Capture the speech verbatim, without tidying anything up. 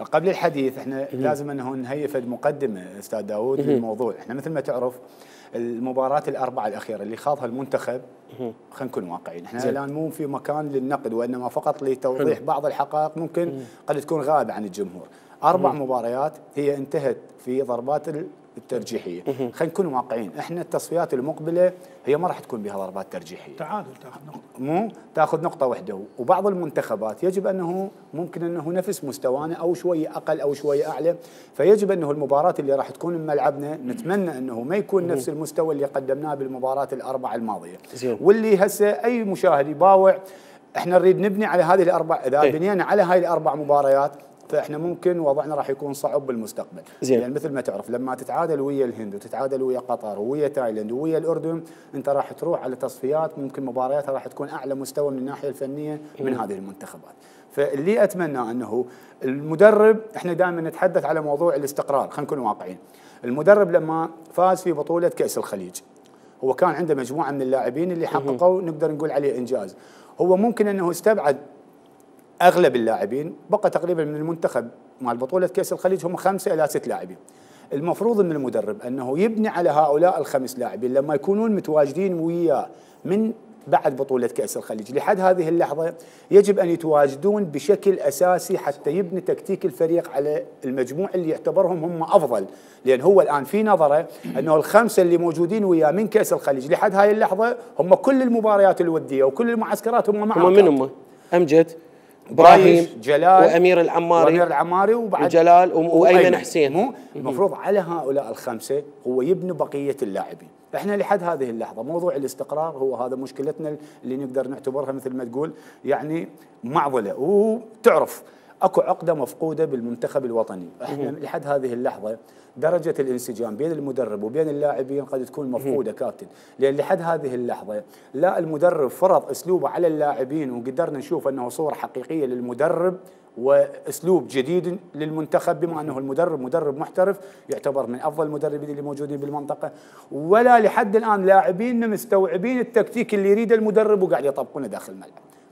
قبل الحديث احنا لازم انه نهيئ فد مقدمه استاذ داوود للموضوع. احنا مثل ما تعرف المباراه الاربعه الاخيره اللي خاضها المنتخب، خلينا نكون واقعيين، احنا الان مو في مكان للنقد وانما فقط لتوضيح حلو. بعض الحقائق ممكن مم. قد تكون غائبه عن الجمهور. اربع مم. مباريات هي انتهت في ضربات الترجيحيه. خلينا نكون واقعيين، احنا التصفيات المقبله هي ما راح تكون بها ضربات ترجيحيه. تعادل تاخذ نقطه، مو تاخذ نقطه واحده، وبعض المنتخبات يجب انه ممكن انه نفس مستوانا او شويه اقل او شويه اعلى، فيجب انه المباراه اللي راح تكون بملعبنا نتمنى انه ما يكون نفس المستوى اللي قدمناه بالمباراه الاربعه الماضيه. واللي هسه اي مشاهد يباوع احنا نريد نبني على هذه الاربع، اذا بنينا على هاي الاربع مباريات فاحنا ممكن وضعنا راح يكون صعب بالمستقبل. زين. يعني مثل ما تعرف لما تتعادل ويا الهند وتتعادل ويا قطر ويا تايلاند ويا الاردن، انت راح تروح على تصفيات ممكن مبارياتها راح تكون اعلى مستوى من الناحيه الفنيه من هذه المنتخبات. فاللي اتمنى انه المدرب، احنا دائما نتحدث على موضوع الاستقرار، خلينا نكون واقعيين. المدرب لما فاز في بطوله كاس الخليج هو كان عنده مجموعه من اللاعبين اللي حققوا نقدر نقول عليه انجاز. هو ممكن انه استبعد اغلب اللاعبين، بقى تقريبا من المنتخب مال بطوله كاس الخليج هم خمسه الى ست لاعبين. المفروض من المدرب انه يبني على هؤلاء الخمس لاعبين لما يكونون متواجدين وياه من بعد بطوله كاس الخليج لحد هذه اللحظه، يجب ان يتواجدون بشكل اساسي حتى يبني تكتيك الفريق على المجموع اللي يعتبرهم هم افضل، لان هو الان في نظره انه الخمسه اللي موجودين وياه من كاس الخليج لحد هاي اللحظه هم كل المباريات الوديه وكل المعسكرات هم معهم. هم من هم؟ امجد، ابراهيم، جلال، وامير العماري وامير العماري وبعد وجلال وايمن حسين. مو المفروض على هؤلاء الخمسه هو يبني بقيه اللاعبين. احنا لحد هذه اللحظه موضوع الاستقرار هو هذا مشكلتنا اللي نقدر نعتبرها مثل ما تقول يعني معضله. وتعرف اكو عقده مفقوده بالمنتخب الوطني، احنا لحد هذه اللحظه درجه الانسجام بين المدرب وبين اللاعبين قد تكون مفقوده كابتن، لان لحد هذه اللحظه لا المدرب فرض اسلوبه على اللاعبين وقدرنا نشوف انه صوره حقيقيه للمدرب واسلوب جديد للمنتخب، بما انه المدرب مدرب محترف يعتبر من افضل المدربين اللي موجودين بالمنطقه، ولا لحد الان لاعبين مستوعبين التكتيك اللي يريده المدرب وقاعد يطبقونه داخل الملعب.